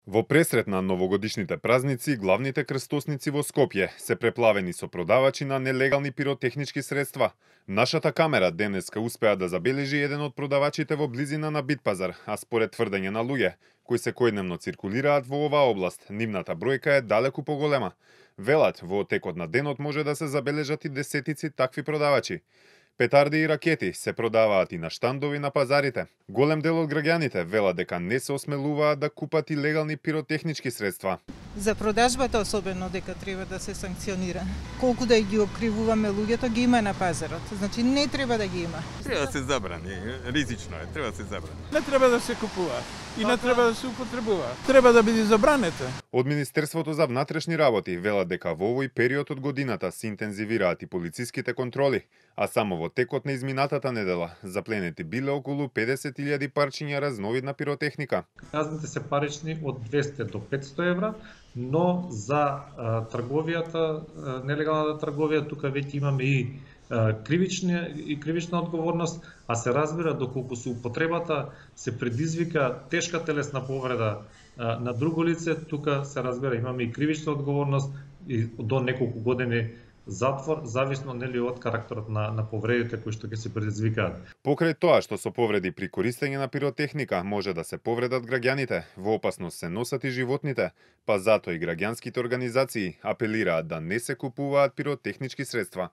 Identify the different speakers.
Speaker 1: Во пресрет на новогодишните празници, главните крстосници во Скопје се преплавени со продавачи на нелегални пиротехнички средства. Нашата камера денеска успеа да забележи еден од продавачите во близина на Битпазар, а според тврдење на луѓе кои секојдневно циркулираат во оваа област, нивната бројка е далеку поголема. Велат, во текот на денот може да се забележат и десетици такви продавачи. Петарди и ракети се продаваат и на штандови на пазарите. Голем дел од граѓаните велат дека не се осмелуваат да купат и легални пиротехнички средства.
Speaker 2: За продажбата особено дека треба да се санкционира. Колку да ги окривуваме луѓето, ги има на пазарот. Значи не треба да ги има.
Speaker 3: Треба да се забрани, ризично е, треба да се забрани.
Speaker 4: Не треба да се купува и не треба да се употребува. Треба да биде забранета.
Speaker 1: Од Министерството за внатрешни работи велат дека во овој период од годината се интензивираат и полициските контроли, а само во текот на изминатата недела запленети биле околу 50.000 парчиња разновидна пиротехника.
Speaker 5: Казните се парични од 200 до 500 евра, но за трговијата, нелегалната трговија, тука веќе имаме и кривична одговорност, а се разбира доколку со употребата се предизвика тешка телесна повреда на друго лице, тука се разбира имаме и кривична одговорност и до неколку години затвор, зависно нели од карактерот на повредите кои што ќе се предизвикаат.
Speaker 1: Покрај тоа што со повреди при користење на пиротехника може да се повредат граѓаните, во опасност се носат и животните, па затоа и граѓанските организации апелираат да не се купуваат пиротехнички средства.